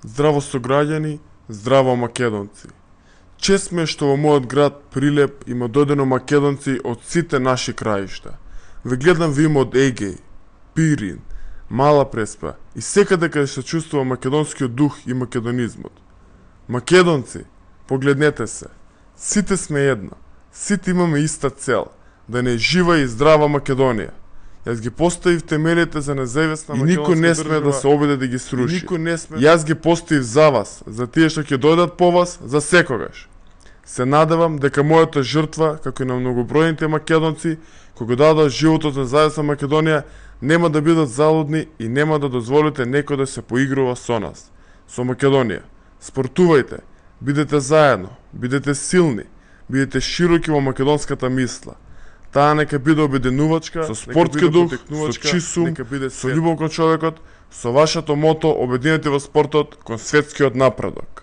Здраво сограѓани, здраво македонци. Чест ме што во мојот град Прилеп има дојдено македонци од сите наши краишта. Ве гледам во име од Егеј, Пирин, Мала Преспа и секаде каде се чувствува македонскиот дух и македонизмот. Македонци, погледнете се. Сите сме едно. Сите имаме иста цел, да не жива и здрава Македонија. Јас ги поставив темелите за независна македонска држава. И никој не сме да се обиде да ги сруши. Јас ги поставив за вас, за тие што ќе дојдат по вас, за секогаш. Се надевам дека мојата жртва, како и на многобројните македонци, кои го дадат животот за независна Македонија, нема да бидат залудни и нема да дозволите некој да се поигрува со нас, со Македонија. Спортувајте, бидете заедно, бидете силни, бидете широки во македонската мисла. Таа нека биде обединувачка, со спортски дух, со чист ум, со љубов кон човекот, со вашето мото обединете во спортот кон светскиот напредок.